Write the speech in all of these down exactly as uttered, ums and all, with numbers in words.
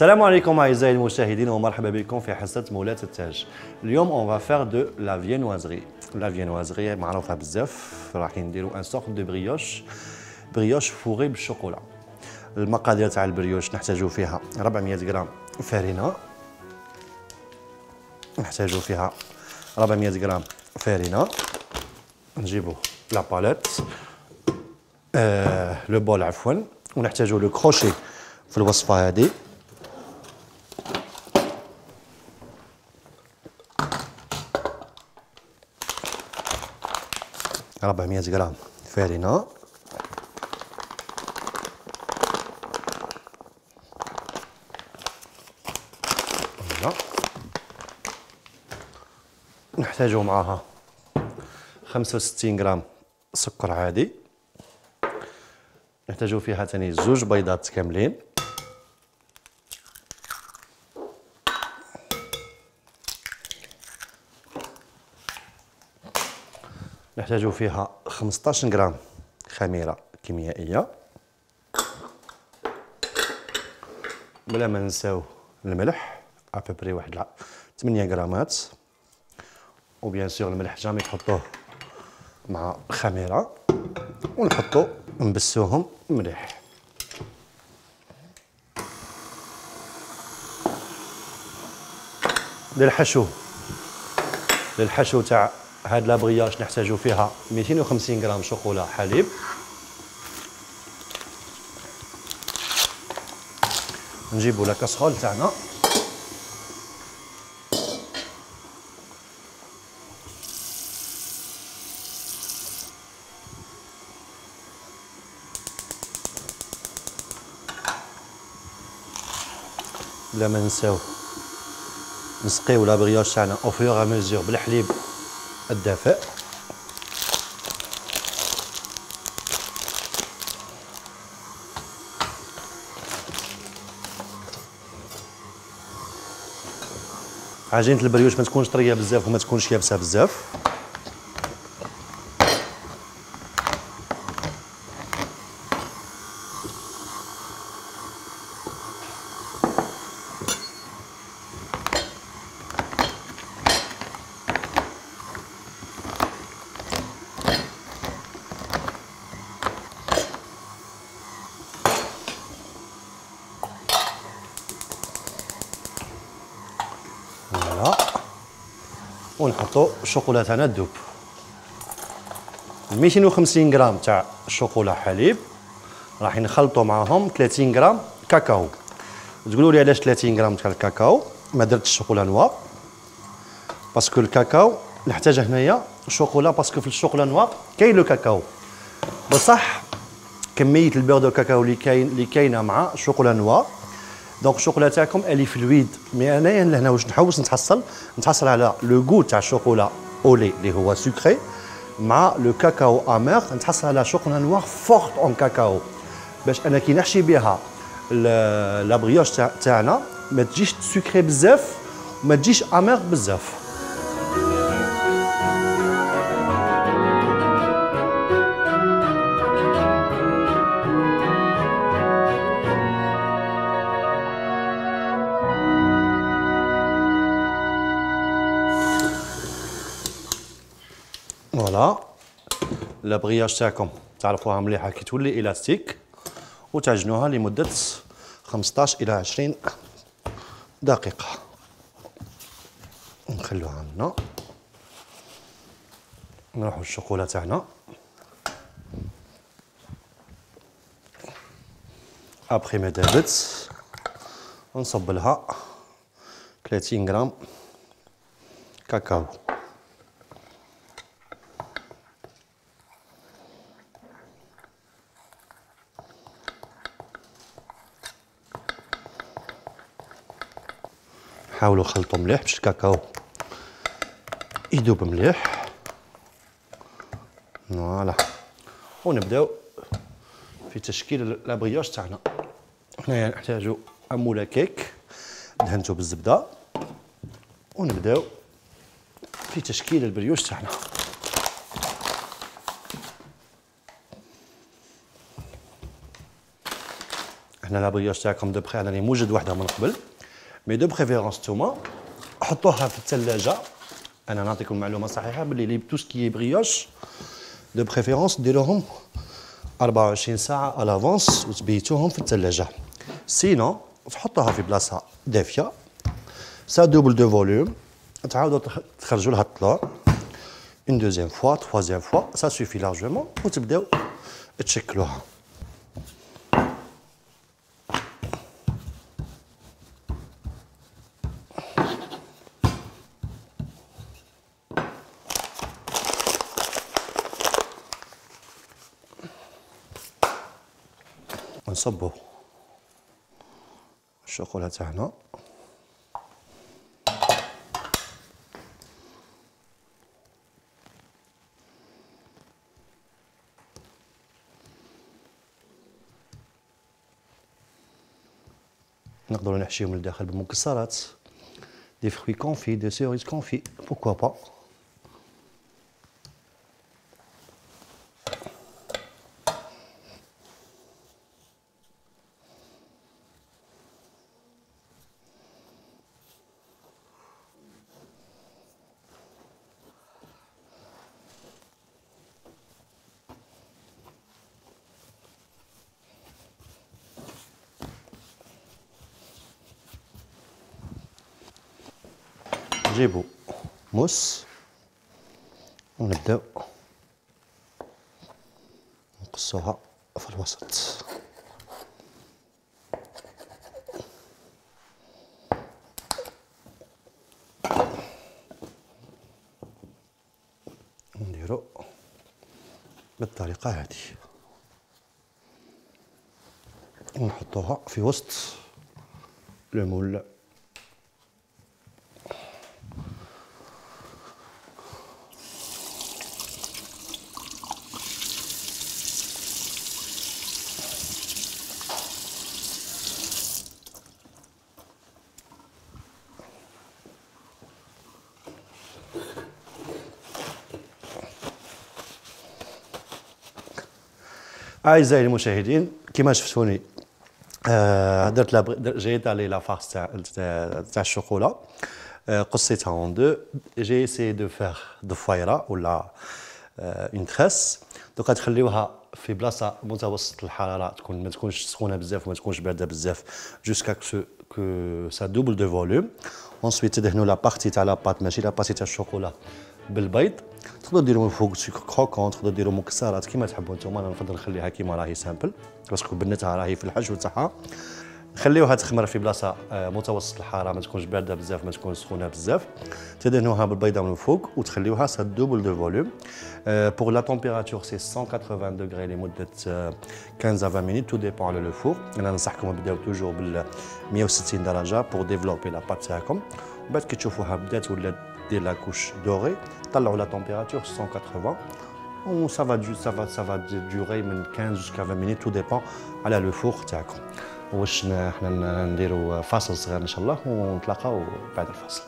السلام عليكم اعزائي المشاهدين ومرحبا بكم في حصه مولاة التاج. اليوم اون فا دو لا فينوازري. لا فينوازري معروفه بزاف، راح نديرو ان سورت دو بريوش بريوش فوغي بالشوكولا. المقادير تاع البريوش نحتاجو فيها أربعمية غرام فرينه، نحتاجو فيها أربعمية غرام فرينه، نجيبو لا باليت آه لو بول عفوا، ونحتاجو لو كروشي في الوصفه هذه. أربعمية غرام فرينه، نحتاجو معاها خمسة وستين غرام سكر عادي، نحتاجو فيها ثاني زوج بيضات كاملين، نحتاجو فيها خمسطاش غرام خميره كيميائيه، بلا ما ننساو الملح ابوبري واحد ثمانية غرامات، وبيان سور الملح جامي تحطوه مع الخميره، ونحطو نبسوهم مليح. للحشو للحشو تاع هاد لابرياج نحتاجو فيها مئتين وخمسين غرام شوكولا حليب، نجيبو لا كاسرول تاعنا، بلا ما ننساو نسقيو لابرياج تاعنا او فيغ ا ميزور بالحليب الدافئ. عجينة البريوش ما تكونش طريه بزاف وما تكونش يابسه بزاف. ونحطو الشوكولا تاعنا تذوب. مئتين وخمسين غرام تاع الشوكولا حليب راح نخلطو معاهم ثلاثين غرام كاكاو. تقولوا لي علاش ثلاثين غرام تاع الكاكاو ما درتش الشوكولا نوار؟ باسكو الكاكاو نحتاج هنايا شوكولا، باسكو في الشوكولا نوار كاين لو كاكاو، بصح كميه البيغ دو كاكاو اللي كاين اللي كاينه مع الشوكولا نوار، دونك الشوكولا تاعكم الي فلويد. مي انايا لهنا واش نحوس نتحصل نتحصل على لو غو تاع الشوكولا اولي اللي هو سكري مع لو كاكاو امير، نتحصل على شوكولا نوار فورت اون كاكاو، باش انا كي نحشي بها لا بريوش تاعنا ما تجيش سكري بزاف وما تجيش امير بزاف. فوالا لا برياج تاعكم تعرفوها مليحه كي تولي الاستيك، وتعجنوها لمده خمسطاش الى عشرين دقيقه. نخلوها هنا، نروحو الشوكولا تاعنا ابخي ما دابت، ونصب لها ثلاثين غرام كاكاو. حاولوا خلطوا مليح باش الكاكاو يذوب مليح. فوالا، ونبداو في تشكيل لابريوش تاعنا. هنايا نحتاجو اموله كيك دهنتو بالزبده، ونبداو في تشكيل البريوش تاعنا. هنا لابريوش تاعكم دو بخي راني موجد وحده من قبل، مي دو بريفيرونس نتوما حطوها في الثلاجه. انا نعطيكم معلومه صحيحه باللي لي تو سكي بريوش دو بريفيرونس ديروهم أربعة وعشرين ساعه على لافونس وتبيتوهم في الثلاجه، سينو تحطوها في بلاصه دافيه سا دوبل دو فوليوم، تعاودوا تخرجوا لها الطلوع اون دوزيام فوا تروازيام فوا سا سوفي لارجومون وتبداو تشكلوها. نصبوا الشوكولا تاعنا نقدروا نحشيهم لداخل بالمكسرات، دي فروي كونفي، دي سيريز كونفي، بوكوا با. نجيبو موس ونبداو نقصوها في الوسط. نديرو بالطريقة هذه، ونحطوها في وسط لو مول. أعزائي المشاهدين كما شفتوني آه درت جيت على لا فارس تاع تاع الشوكولا، آه قصيتها اون دو، جي اسي دو فيغ ضفيره ولا اون تريس. دوكا تخليوها في بلاصه متوسط الحراره، تكون ما تكونش سخونه بزاف وما تكونش بارده بزاف، جوسكا كو سا دوبل دو فوليوم. اونسويت تدهنوا لا بارتي تاع لا بات ماشي لا بارتي تاع الشوكولا بالبيض. تقدروا ديروا من فوق سكر كروكون، تقدروا ديروا مكسرات كيما تحبوا نتوما. انا نفضل نخليها كيما راهي سامبل باسكو بنتها راهي في الحشو تاعها. نخليوها تخمر في بلاصه متوسط الحراره، ما تكونش بارده بزاف ما تكونش سخونه بزاف. تدهنوها بالبيضه من فوق وتخليوها سا دوبل دو فوليوم. بور لا تمبيراتور سي مية وثمانين دوغري لمده خمسطاش ل عشرين مينوت، تو ديبون على لو فور. انا ننصحكم تبداو توجور بال مية وستين درجه بور ديفلوبي لا بات تاعكم. بعد كي تشوفوها بدات ولات دير لا كوش دوري، طلعوا لا تمبيراتور مية وثمانين و ça va ça va ça va durer من خمسطاش jusqu'à عشرين مينوت، تو ديبون على لو فور تاعكم. واش حنا نديروا فاصل صغير ان شاء الله ونتلاقاو بعد الفاصل.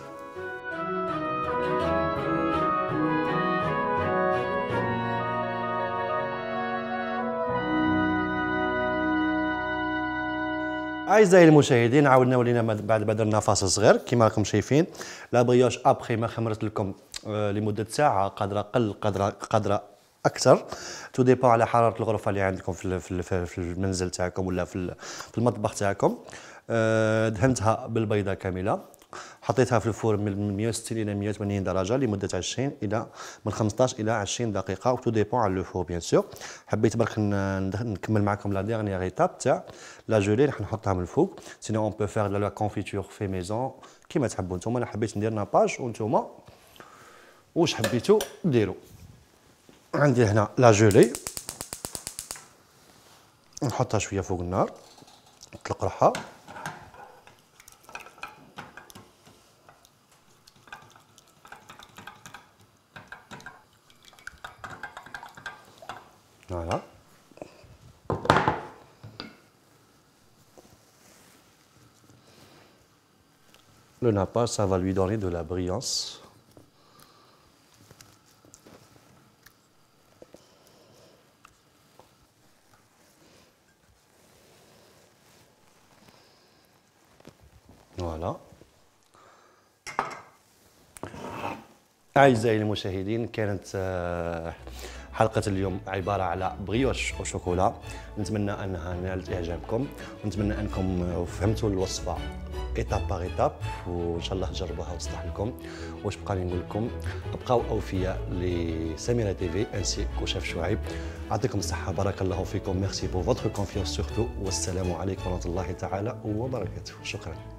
اعزائي المشاهدين عاودنا ولينا بعد ما درنا فاصل صغير كما راكم شايفين. لا بريوش ابخي ما خمرت لكم لمده ساعه، قادره اقل قادره قادره اكثر، تو ديبون على حراره الغرفه اللي عندكم في في المنزل تاعكم ولا في في المطبخ تاعكم. دهنتها بالبيضه كامله، حطيتها في الفور من مية وستين الى مية وثمانين درجه لمده عشرين الى من خمسطاش الى عشرين دقيقه، و تو ديبون على لو فور بيان سور. حبيت برك نكمل معكم لا ديرنيير ايتاب تاع لا جولي راح نحطها من الفوق. سينو اون بو فير لا كونفيتور في ميزون كيما تحبوا نتوما. انا حبيت ندير ناباج وانتوما واش حبيتوا ديروا. عندي هنا لا جولي نحطها شويه فوق النار نطلق روحها. فوالا le nappage ça va lui donner de la brillance. فوالا. أعزائي المشاهدين، كانت حلقة اليوم عبارة على بريوش وشوكولا. نتمنى أنها نالت إعجابكم، ونتمنى أنكم فهمتوا الوصفة إيتاب باغ إيتاب، وإن شاء الله تجربوها وتصلح لكم. واش بقى لي نقول لكم؟ ابقاو أوفياء لسميرة تيفي انسي كشاف شعيب. يعطيكم الصحة، بارك الله فيكم، ميرسي بور فوتر كونفيونس سورتو، والسلام عليكم ورحمة الله تعالى وبركاته. شكرا.